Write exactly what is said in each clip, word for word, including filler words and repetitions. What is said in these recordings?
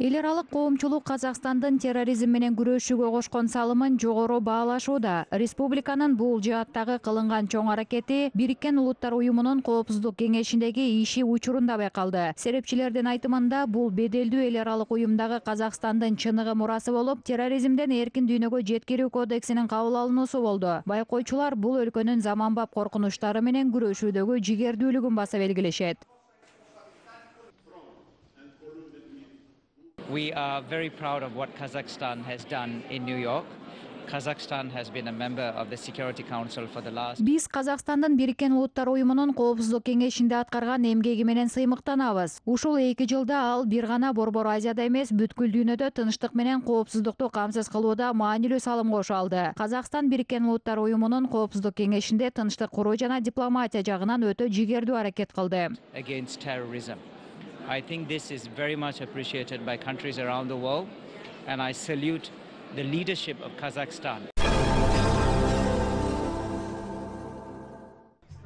Эл аралык коомчулук Казакстандын терроризм менен күрөшүүгө кошкон салымын жогору баалашууда. Республиканын бул жааттагы кылынган чоң аракети Бириккен Улуттар уюмунун Коопсуздук кеңешиндеги иши учурунда байкалды. Серепчилердин айтымында бул беделдүү эл аралык уюмдагы Казакстандын чыныгы мурасы болуп, терроризмден эркин дүйнөгө жеткирүү кодексинин кабыл алынуусу болду. Байкоочулар бул өлкөнүн заманбап коркунучтары менен күрөшүүдөгү жигердүүлүгүн баса белгилешет. We are very proud of what Kazakhstan has done in New York. Kazakhstan has been a member of the Security Council for the last. Биз Казакстандын Бириккен Улуттар уюмунун Коопсуздук кеңешинде аткарган эмгеги менен сыймыктанабыз. Ушул эки жылда ал бир гана Борбор Азияда эмес, бүткүл дүйнөдө тынчтык менен коопсуздукту камсыз кылууда маанилүү салым кошо алды. Казакстан Бириккен Улуттар уюмунун Коопсуздук кеңешинде тынчтык куруу жана дипломатия жагынан өтө жигердүү аракет кылды. Against terrorism. I think this is very much appreciated by countries around the world, and I salute the leadership of Kazakhstan.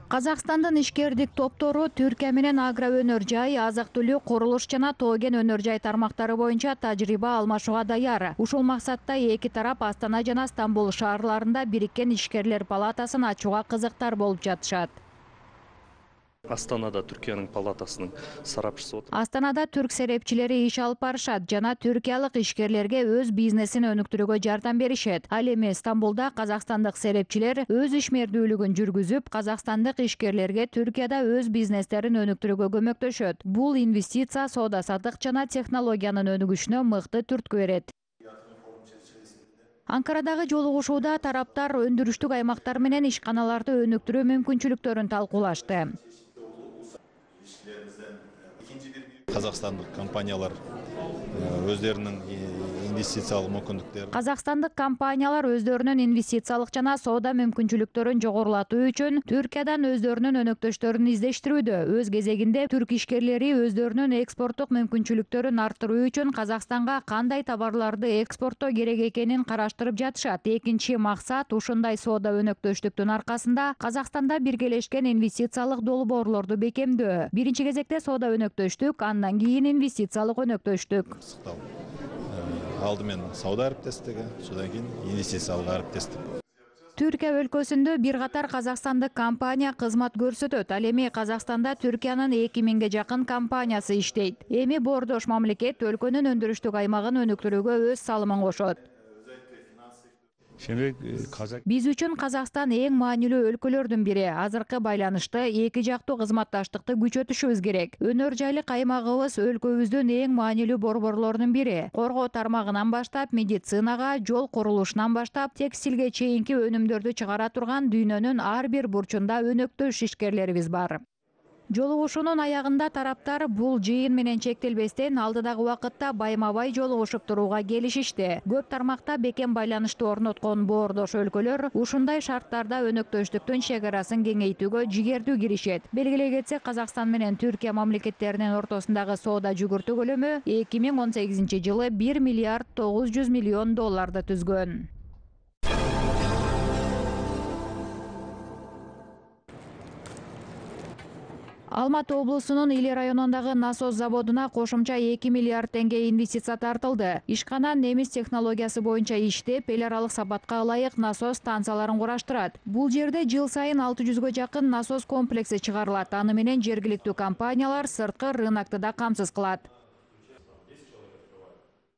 Казакстандын ишкердик топтору Түркия менен агро өнөр жай, азык-түлүк, курулуш жана тоо-кен өнөр жай тармактары боюнча тажрыйба алмашууга даяр. Ушул максатта эки тарап Астана жана Стамбул шаарларында Бириккен ишкерлер палатасын ачууга кызыктар болуп жатышат. Астанада Түркиянын палатасынын сарапчысы отуруп. Астанада түрк серепчилери иш алып барышат жана түркиялык ишкерлерге өз бизнесин өнүктүрүүгө жардам беришет. Ал эми Стамбулда казакстандык серепчилер өз ишмердүүлүгүн жүргүзүп, казакстандык ишкерлерге Түркияда өз бизнестерин өнүктүрүүгө көмөктөшөт. Бул инвестиция, соода-саттык жана технологиянын өнүгүшүнө мыкты түрткү берет. Анкарадагы жолугушууда тараптар өндүрүштүк аймактар менен ишканаларды өнүктүрүү мүмкүнчүлүктөрүн талкуулашты. Казакстандык компаниялар өздөрүнүн инвестициялык мүмкүндүктөрүн Казакстандык компаниялар өздөрүнүн инвестициялык жана соода мүмкүнчүлүктөрүн жогорулатуу үчүн Түркиядан өздөрүнүн өнөктөштөрүн издештирүүдө. Өз кезегинде түрк ишкерлери өздөрүнүн экспорттук мүмкүнчүлүктөрүн арттыруу үчүн Казакстанга кандай товарларды экспорттоо керек экенин караштырып жатышат. Экинчи максат ушундай соода өнөктөштүктүн аркасында Казакстанда биргелешкен инвестициялык долбоорлорду бекемдөө. Биринчи кезекте соода өнөктөштүк, андан кийин инвестициялык өнөктөштүк. Алдымен сауда әріптестігі, содан кейін инвестициялық әріптестік. Түркия өлкөсүндө бир катар казакстандык компания кызмат көрсөтөт. Ал эми Казакстанда Түркиянын эки миңге жакын компаниясы иштейт. Эми боордош мамлекет өлкөнүн өндүрүштүк аймагын өнүктүрүүгө өз салымын кошот. Биз үчүн Казакстан эң маанилүү өлкөлөрдүн бири. Азыркы байланышты эки жактуу кызматташтыкты күчөтүшүбүз керек. Өнөр жайлык аймагыбыз өлкөбүздүн эң маанилүү борборлорунун бири. Коргоо тармагынан баштап, медицинага, жол курулушунан баштап, текстилге чейинки өнүмдөрдү чыгара турган дүйнөнүн ар бир бурчунда өнөктөш ишкерлерибиз бар. Жолугушуунун аягында тараптар бул жыйын менен чектелбестен алдыдагы убакытта байма-бай жолугушуп турууга келишишти. Көп тармакта бекем байланышты орноткон боордош өлкөлөр ушундай шарттарда өнөктөштүктүн чегарасын кеңейтүүгө жигердүү киришет. Белгилей кетсек, Казакстан менен Түркия мамлекеттеринин ортосундагы соода жүгүртүү көлөмү эки миң он сегизинчи жылы бир миллиард тогуз жүз миллион долларды түзгөн. Алматы облусунун Иле районундагы насос заводуна кошумча эки миллиард теңге инвестиция тартылды. Ишкана немис технологиясы боюнча иштеп, эл аралык сапатка ылайык насос станцияларын кураштырат. Бул жерде жыл сайын алты жүзгө жакын насос комплекси чыгарылат. Аны менен жергиликтүү компаниялар сырткы рынокты да камсыз кылат.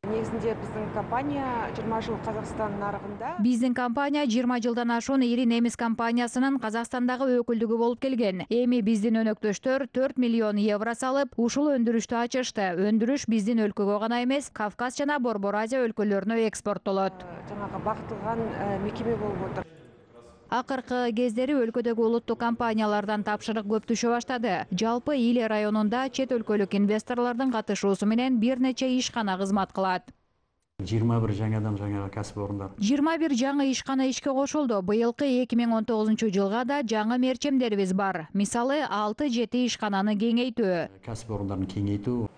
Негизинде биздин компания жыйырма жыл Казакстан нарыгында. Биздин компания жыйырма жылдан ашуун ири немис компаниясынын Казакстандагы өкүлдүгү болуп келген. Эми биздин өнөктөштөр төрт миллион евро салып, ушул өндүрүштү ачышты. Өндүрүш биздин өлкөгө гана эмес, Кавказ жана Борбор Азия өлкөлөрүнө экспорттолот. Жанагы багытылган мекеме болуп отур. Акыркы кездери өлкөдөгү улуттук компаниялардан тапшырык көп түшө баштады. Жалпы Иле районунда чет өлкөлүк инвесторлордун катышуусу менен бир нече ишкана кызмат кылат. жыйырма бир жаңадан жаңа кәсип орундар. жыйырма бир жаңы ишкана ишке кошулду. Быйылкы эки миң он тогузунчу жылга да жаңы мерчемдерибиз бар. Мисалы, алты жети ишкананы кеңейтүү. Кәсип орундарын кеңейтүү.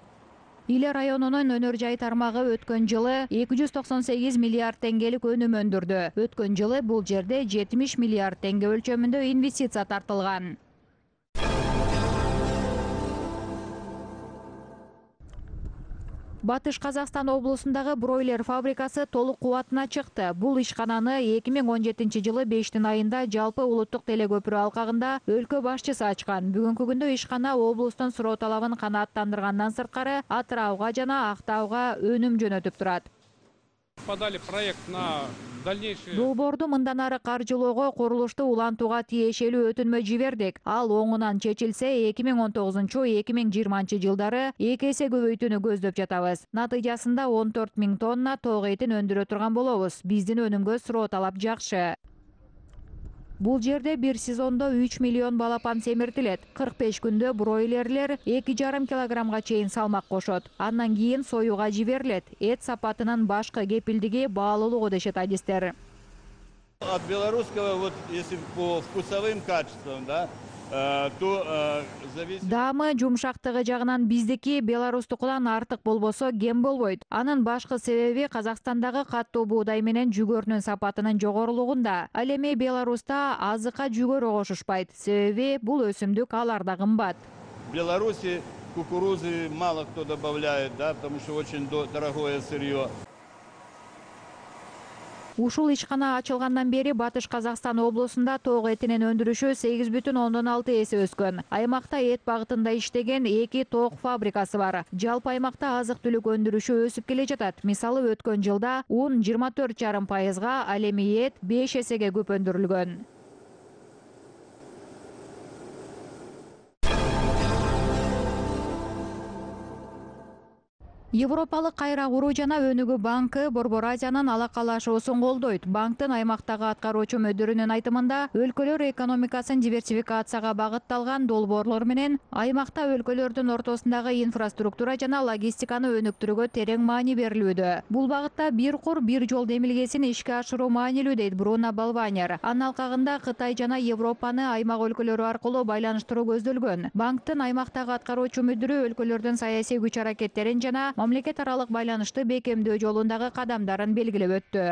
Иле районунун өнөр жай тармагы өткөн жылы эки жүз токсон сегиз миллиард теңгелик өнүм өндүрдү. Өткөн жылы бул жерде жетимиш миллиард теңге өлчөмүндө инвестиция тартылган. Батыш Казакстан облусундагы бройлер фабрикасы толук кубатына чыкты. Бул ишкананы эки миң он жетинчи жылы бештин айында жалпы улуттук телекөпүрө алкагында өлкө башчысы ачкан. Бүгүнкү күндө ишкана облустун суроо талабын канааттандыргандан сырткары Атырауга жана Актауга өнүм жөнөтүп турат. Подали проект на дальнейший. Долбоорду мындан ары каржылоого, курулушту улантууга тиешелүү өтүнмө жибердик. Ал оңунан чечилсе, эки миң он тогузунчу — эки миң жыйырманчы жылдары эки эсе көбөйтүүнү көздөп жатабыз. Натыйжасында он төрт миң тонна ток этин өндүрө турган болобуз. Биздин өнүмгө суроо талап жакшы. Бул жерде бир сезондо үч миллион балапан семиртилет. кырк беш күндө бройлерлер эки жарым килограммга чейин салмак кошот. Андан кийин союга жиберилет. Эт сапатынын башкы кепилдиги баалуулугу дешет адистер. От белорусского, вот если по вкусовым качествам, да, то зависит. Даамы, жумшактыгы жагынан биздики беларустукудан артык болбосо кем болбойт. Анын башкы себеби Казакстандагы каттуу буудай менен жүгөрүнүн сапатынын жогорулугунда. Ал эми Беларуста азыкка жүгөрү кошушпайт. Себеби бул өсүмдүк аларда кымбат. В Беларуси кукурузы мало кто добавляет, да, потому что очень дорогое сырье. Ушул ишкана ачылгандан бери Батыш Казакстан облусунда ток этинин өндүрүшү сегиз бүтүн ондон алты эсе өскөн. Аймакта эт багытында иштеген эки ток фабрикасы бар. Жалпы аймакта азык-түлүк өндүрүшү өсүп келе жатат. Мисалы, өткөн жылда un жыйырма төрт жарым пайызга, ал эми эт беш эсеге көп өндүрүлгөн. Европалык кайра куруу жана өнүгүү банкы Борбор Азиянын алакалашуусун колдойт. Банктын аймактагы аткаруучу мөдүрүнүн айтымында, өлкөлөр экономикасын диверсификацияга багытталган долбоорлор менен аймакта өлкөлөрдүн ортосундагы инфраструктура жана логистиканы өнүктүрүүгө терең маани берилүүдө. Бул багытта бир кур бир жол демилгесин ишке ашыруу маанилүү, дейт Бруно Балванер. Анын алкагында Кытай жана Европаны аймак өлкөлөрү аркылуу байланыштыруу көздөлгөн. Банктын аймактагы аткаруучу мөдүрү өлкөлөрдүн саясий күч аракеттерин жана мамлекет аралык байланышты бекемдөө жолундагы кадамдарын белгилеп өттү.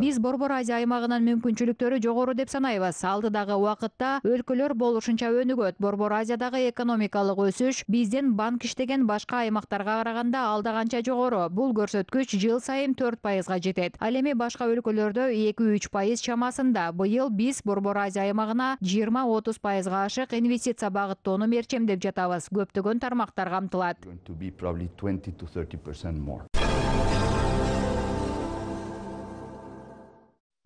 Биз Борбор Азия аймагынын мүмкүнчүлүктөрү жогору деп санайбыз. Алдыдагы убакытта өлкөлөр болушунча өнүгөт. Борбор Азиядагы экономикалык өсүш биздин банк иштеген башка аймактарга караганда алда канча жогору. Бул көрсөткүч жыл сайын төрт пайызга жетет. Ал эми башка өлкөлөрдө эки үч пайыз чамасында. Быйыл биз Борбор Азия аймагына жыйырма отуз пайызга ашык инвестиция багыттоону мерчемдеп жатабыз. Көптөгөн тармактар камтылат.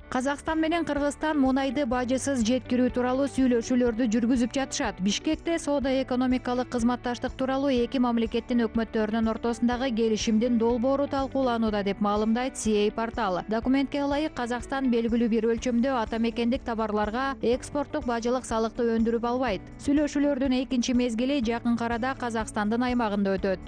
Казакстан менен Кыргызстан мунайды бажысыз жеткирүү тууралуу сүйлөшүүлөрдү жүргүзүп жатышат. Бишкекте соода-экономикалык кызматташтык тууралуу эки мамлекеттин өкмөттөрүнүн ортосундагы келишимдин долбоору талкууланууда деп маалымдайт си эй порталы. Документке ылайык, Казакстан белгилүү бир өлчөмдө ата мекендик товарларга экспорттук бажылык салыкты өндүрүп албайт. Сүйлөшүүлөрдүн экинчи мезгили жакын арада Казакстандын аймагында өтөт.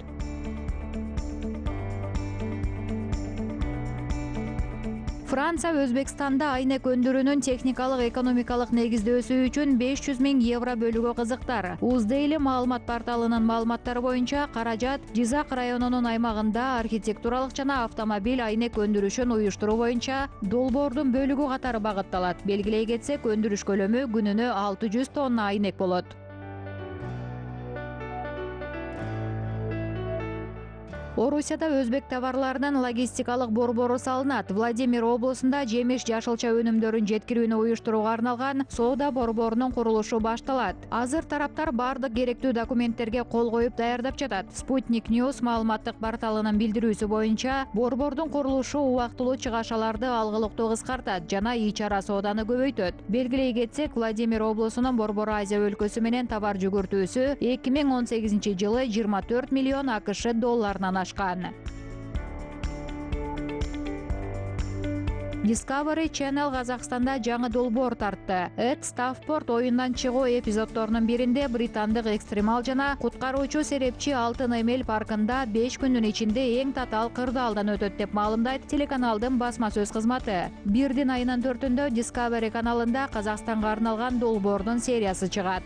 Франция Өзбекстанда айнек өндүрүүнүн техникалык экономикалык негиздөөсү үчүн беш жүз миң евро бөлүүгө кызыктар. Уздейли маалымат порталынын маалыматтары боюнча, каражат Жизак районунун аймагында архитектуралык жана автомобиль айнек өндүрүшүн уюштуруу боюнча долбоордун бөлүгү катары багытталат. Белгилей кетсек, өндүрүш көлөмү күнүнө алты жүз тонна айнек болот. Орусияда өзбек товарларынын логистикалык борбору салынат. Владимир облусунда жемиш жашылча өнүмдөрүн жеткирүүнү уюштурууга арналган соода борборунун курулушу башталат. Азыр тараптар бардык керектүү документтерге кол коюп даярдап жатат. Sputnik News маалыматтык порталынын билдирүүсү боюнча, борбордун курулушу убактылуу чыгашаларды алгылыктуу кыскартат жана ичара сооданы көбөйтөт. Белгилей кетсек, Владимир облусунун Борбор Азия өлкөсү менен товар жүгүртүүсү эки миң он сегизинчи жылы жыйырма төрт миллион акш долларынан ашкан. Discovery Channel Казакстанда жаңы долбоор тартты. Эд Ставпорт оюндан чыгуу эпизоддорунун биринде британдык экстремал жана куткаруучу серепчи Алтын Эмел паркында беш күндүн ичинде эң татаал кырдаалдан өтөт деп маалымдайт телеканалдын басма сөз кызматы. Бирдин айынын төртүндө Discovery каналында Казакстанга арналган долбоордун сериясы чыгат.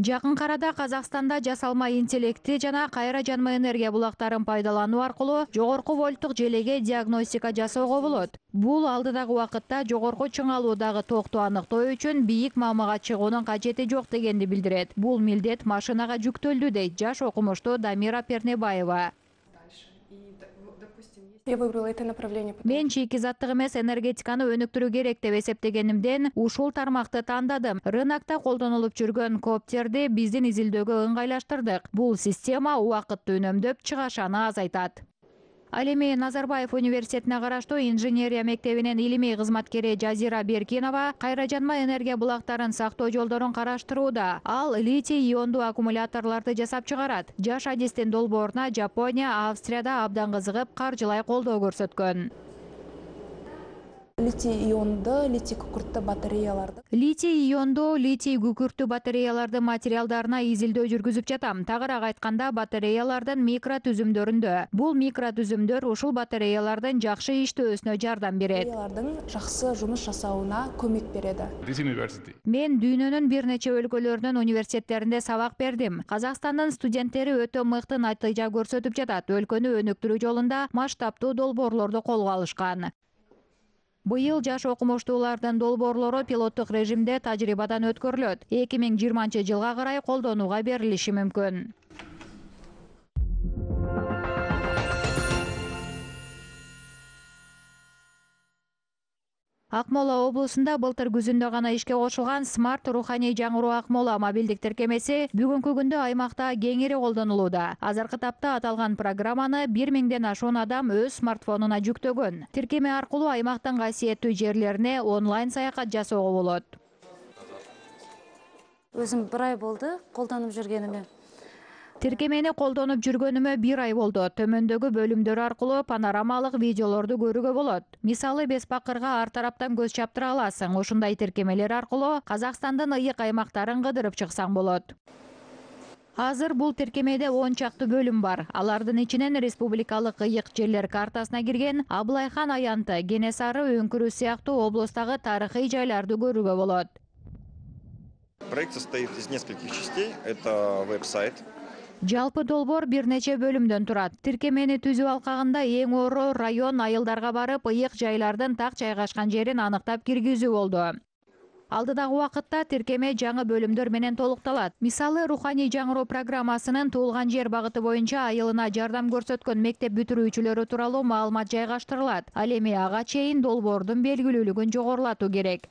Жакынкы арада Казакстанда жасалма интеллекти жана кайра жанма энергия булактарын пайдалануу аркылуу жогорку вольттук желеге диагностика жасоого болот. Бул алдыдагы убакытта жогорку чыңалуудагы токту аныктоо үчүн бийик маамага чыгуунун кажети жок дегенди билдирет. Бул милдет машинага жүктөлдү дейт жаш окумуштуу Дамира Пернебаева. Я выбрала это направление. Мен шикизаттык эмес энергетиканы өнүктүрүү керек деп эсептегенимден ушул тармакты тандадым. Рынокто колдонулуп жүргөн коптерди биздин изилдөөгө ыңгайлаштырдык. Бул система убакытты үнөмдөп, чыгашаны азайтат. Ал эми Назарбаев университетине караштуу инженерия мектебинин илимий кызматкери Жазира Беркинова кайра жанма энергия булактарын сактоо жолдорун караштырууда. Ал литий иондуу аккумуляторлорду жасап чыгарат. Жаш адистин долбооруна Жапония, Австрияда абдан кызыгып, каржылай колдоо көрсөткөн. Литий ионду, литий күкүрттүү батареяларды. Литий иондуу, литий күкүрттүү батареяларды материалдарына изилдөө жүргүзүп жатам. Тагыраак айтканда, батареялардын микро түзүмдөрүндө. Бул микро түзүмдөр ушул батареялардын жакшы иштөөсүнө жардам берет. Батареялардын жакшы жумуш жасауына көмөк берет. Мен дүйнөнүн бир нече өлкөлөрүнүн университеттеринде сабак бердим. Казакстандын студенттери өтө мыкты натыйжа көрсөтүп жатат. Өлкөнү өнүктүрүү жолунда масштабтуу долбоорлорду колго алышкан. Быйыл жаш окумуштуулардын долбоорлору пилоттук режимде тажрыйбадан өткөрүлөт. эки миң жыйырманчы жылга карай колдонууга берилиши мүмкүн. Акмола облусунда былтыр күзүндө гана ишке кошулган Smart Руханий жаңыруу Акмола мобилдик тиркемеси бүгүнкү күндө аймакта кеңири колдонулууда. Азыркы тапта аталган программаны бир миңден ашуун адам өз смартфонуна жүктөгөн. Тиркеме аркылуу аймактын касиеттүү жерлерине онлайн саякат жасоого болот. Өзүм бир ай болду колдонуп жүргениме. Тиркемени колдонуп жүргөнүмө бир ай болду. Төмөндөгү бөлүмдөр аркылуу панорамалык видеолорду көрүүгө болот. Мисалы Бес Бакырга ар тараптан көз чаптыра аласың. Ушундай тиркемелер аркылуу Казакстандын ыйык аймактарын кыдырып чыксаң болот. Азыр бул тиркемеде он чакты бөлүм бар. Алардын ичинен республикалык ыйык жерлер картасына кирген Абылайхан аянты, Кенесары өңкүрү сыяктуу облустагы тарыхый жайларды көрүүгө болот. Проект состоит из нескольких частей. Это веб-сайт. Жалпы долбоор бир нече бөлүмдөн турат. Тиркемени түзүү алкагында эң оро район айылдарга барып, ыйык жайлардын так жайгашкан жерин аныктап киргизүү болду. Алдыдагы убакытта тиркеме жаңы бөлүмдөр менен толукталат. Мисалы, Руханий жаңыруу программасынын туулган жер багыты боюнча айылына жардам көрсөткөн мектеп бүтүрүүчүлөрү тууралуу маалымат жайгаштырылат. Ал эми ага чейин долбоордун белгилүүлүгүн жогорулатуу керек.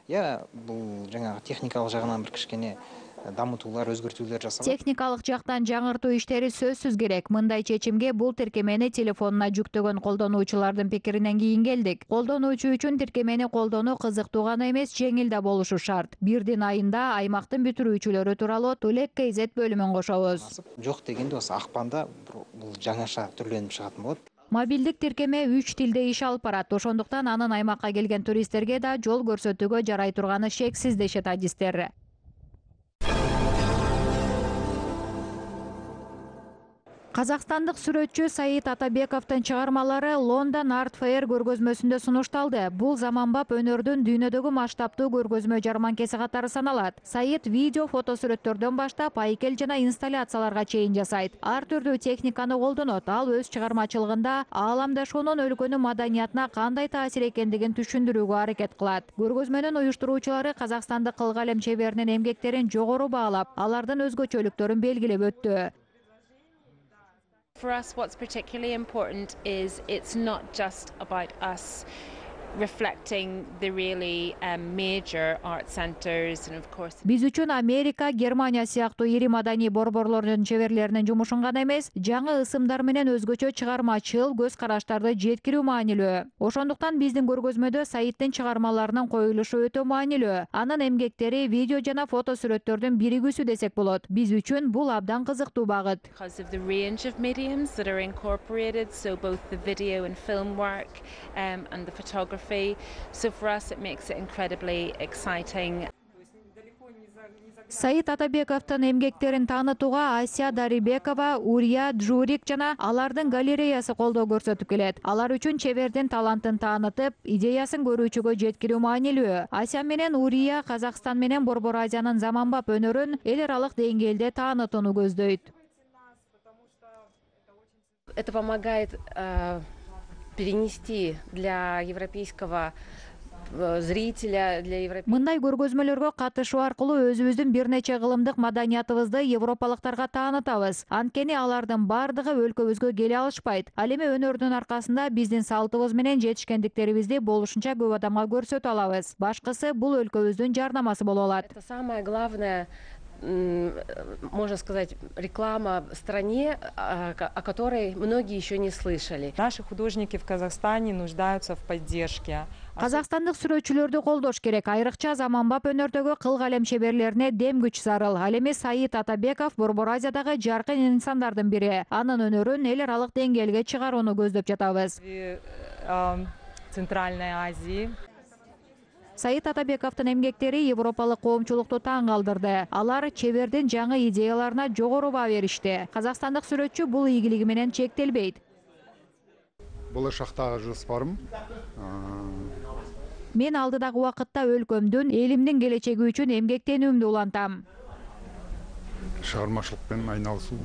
Я бул жаңагы техникалык жагынан бир кичкене дамытуулар, өзгөртүүлөр жасалат. Техникалык жактан жаңыртуу иштери сөзсүз керек. Мындай чечимге бул тиркемени телефонуна жүктөгөн колдонуучулардын пикиринен кийин келдик. Колдонуучу үчүн тиркемени колдонуу кызыктуу гана эмес, жеңил да болушу шарт. Бирдин айында аймактын бүтүрүүчүлөрү тууралуу Төлек Кейзет бөлүмүн кошобуз. Жок дегенде осы акпанда бул жаңаша түрлөнүп чыгатын болот. Мобилдик тиркеме үч тилде иш алып барат. Ошондуктан анын аймакка келген туристтерге да жол көрсөтүүгө жарай турганы шексиз дешет адистер. Казакстандык сүрөтчү Саид Атабековдун чыгармалары Лондон Арт Фэйр көргөзмөсүндө сунушталды. Бул заманбап өнөрдүн дүйнөдөгү масштабтуу көргөзмө жарманкеси катары саналат. Саид видео, фотосүрөттөрдөн баштап айкел жана инсталляцияларга чейин жасайт. Ар түрдүү техниканы колдонот. Ал өз чыгармачылыгында ааламдашуунун өлкөнүн маданиятына кандай таасир экендигин түшүндүрүүгө аракет кылат. Көргөзмөнүн уюштуруучулары казакстандык кылгалем чеберинин эмгектерин жогору баалап, алардын өзгөчөлүктөрүн белгилеп өттү. For us, what's particularly important is it's not just about us reflecting the really um, major art centers and of course. Биз үчүн Америка, Германия сыяктуу ири маданий борборлордун чеберлеринин жумушун гана эмес, жаңы ысымдар менен өзгөчө чыгармачыл көз караштарды жеткирүү маанилүү. Ошондуктан биздин көргөзмөдө Саиддин чыгармаларынын коюлушу өтө маанилүү. Анын эмгектери видео жана фото сүрөттөрдүн биригүүсү десек болот. Биз үчүн бул абдан кызыктуу багыт. Because of the range of mediums that are incorporated, so both the video and film work um, and the photography. So for us it makes it incredibly exciting. Саид Атабековдун эмгектерин таанытууга Ася Дарибекова, Урия Джурик жана алардын галереясы колдоо көрсөтүп келет. Алар үчүн чебердин талантын таанытып, идеясын көрүүчүгө жеткирүү маанилүү. Ася менен Урия Казакстан менен Борбор Азиянын заманбап өнөрүн эл аралык деңгээлде таанытууну көздөйт. Это помогает э, перенести для европейского зрителя, для европейского... Мындай көргөзмөлөргө катышуу аркылуу өзүбүздүн бир нече кылымдык маданиятыбызды европалыктарга таанытабыз. Анткени алардын бардыгы өлкөбүзгө келе алышпайт. Ал эми өнөрдүн аркасында биздин салтыбыз менен жетишкендиктерибизди болушунча көп адамга көрсөтө алабыз. Башкысы бул өлкөбүздүн жарнамасы боло алат. Это самое главное, можно сказать, реклама в стране, о которой многие еще не слышали. Наши художники в Казахстане нуждаются в поддержке. Казакстандык сүрөтчүлөрдү колдош керек. Айрыкча заманбап өнөрдөгү кыл калем шеберлерине дем күч зарыл. Ал эми Саид Атабеков Борбор Азиядагы жаркын инсандардын бири. Анын өнөрүн эл аралык деңгээлге чыгарууну көздөп жатабыз. Центральной Азии. Саид Атабековдун эмгектери европалык коомчулукту таң калтырды. Алар чебердин жаңы идеяларына жогору баа беришти. Казакстандык сүрөтчү бул ийгилиги менен чектелбейт. Болашактагы жоспарым мен алдыдагы убакытта өлкөмдүн, элимдин келечеги үчүн эмгектенүүмдү улантам. Чыгармачылык менен айналышуу.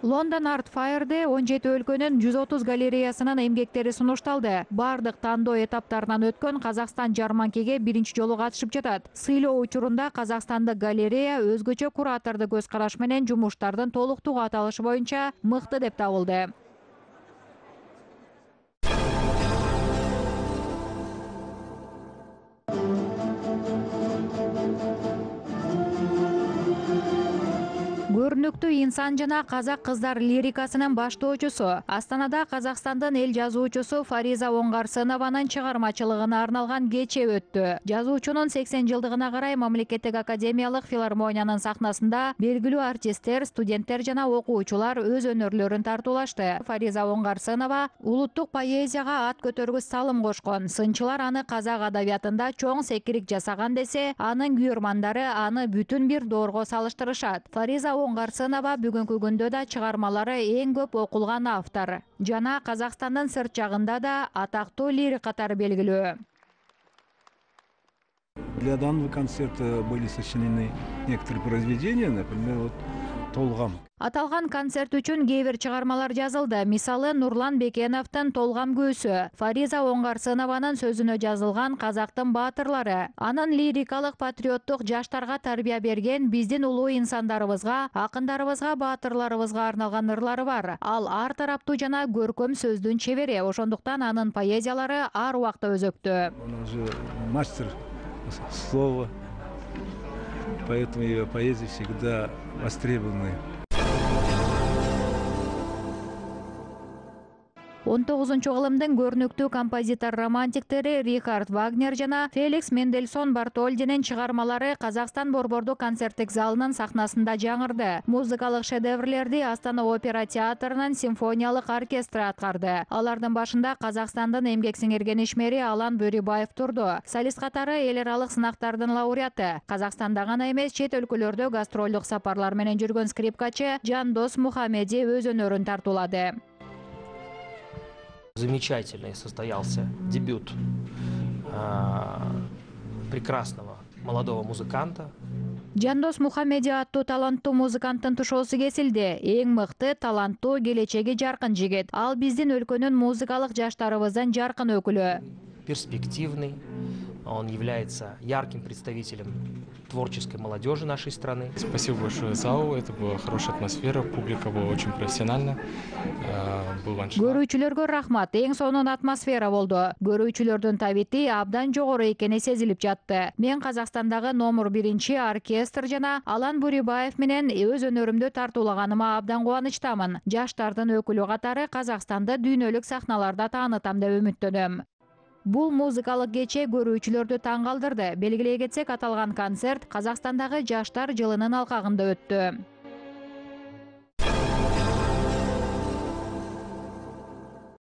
Лондон Арт Файрде он жети өлкөнүн жүз отуз галереясынын эмгектери сунушталды. Бардык тандоо этаптарынан өткөн Казакстан жарманкеге биринчи жолу катышып жатат. Сыйлоо учурунда Казакстандык галерея өзгөчө кураторду көз караш менен жумуштардын толуктугу аталышы боюнча мыкты деп табылды. Көрүнүктүү инсан жана казак кыздар лирикасынын баштоочусу, Астанада Казакстандын эл жазуучусу Фариза Оңгарсынованын чыгармачылыгына арналган кече өттү. Жазуучунун сексен жылдыгына карай Мамлекеттик академиялык филармониянын сахнасында белгилүү артисттер, студенттер жана окуучулар өз өнөрлөрүн тартуулашты. Фариза Оңгарсынова улуттук поэзияга ат көтөргүс салым кошкон. Сынчылар аны казак адабиятында чоң секирик жасаган десе, анын күйөрмандары аны бүтүн бир доорго салыштырышат. Фариза Оңгарсынова бүгүнкү күндө да чыгармалары эң көп окулган автор. Жана Казакстандын сырт жагында да атактуу лирик катары белгилүү. Для данного концерта были сочинены некоторые произведения, например, вот «Толгам». Аталган концерт үчүн кээ бир чыгармалар жазылды. Мисалы Нурлан Бекеновдун «Толгам көсү», Фариза Оңгарсынованын сөзүнө жазылган «Казактын баатырлары». Анын лирикалык патриоттук жаштарга тарбия берген биздин улуу инсандарыбызга, акындарыбызга, баатырларыбызга арналган ырлары бар. Ал ар тараптуу жана көркөм сөздүн чебери, ошондуктан анын поэзиялары ар убакта өзөктүү. Он же мастер слова, поэтому ее поэзия всегда востребованы. он тогузунчу кылымдын көрүнүктүү композитор-романтиктери Рихард Вагнер жана Феликс Мендельсон Бартольдинин чыгармалары Казакстан Борбордук концерттик залынын сахнасында жаңырды. Музыкалык шедеврлерди Астана опера театрынын симфониялык оркестры аткарды. Алардын башында Казакстандын эмгек сиңирген ишмери Алан Бөрүбаев турду. Солист катары эл аралык сынактардын лауреаты. Казакстанда гана эмес, чет өлкөлөрдө гастролдук сапарлар менен жүргөн скрипкачы Жандос Мухамеди өз өнөрүн тартуулады. Замечательный состоялся дебют э, прекрасного молодого музыканта. Жандос Мухамеди аттуу таланттуу музыканттын тушоосу кесилди. Эң мыкты, таланттуу, келечеги жаркын жигит. Ал биздин өлкөнүн музыкалык жаштарыбыздын жаркын өкүлү. Перспективный. Он является ярким представителем творческой молодежи нашей страны. Спасибо большое залу, это была хорошая атмосфера, публика была очень профессиональна. Көрүүчүлөргө рахмат, эң сонун атмосфера болду. Көрүүчүлөрдүн табити абдан жогору экени сезилип жатты. Мен Казакстандагы номер биринчи оркестр жана Алан Бөрүбаев менен өз өнөрүмдү тартуулаганыма абдан кубанычтамын. Жаштардын өкүлү катары Казакстанды дүйнөлүк сахналарда таанытам деп үмүттөнөм. Бул музыкалык кече көрүүчүлөрдү таң калтырды. Белгилей кетсек, аталган концерт Казакстандагы жаштар жылынын алкагында өттү.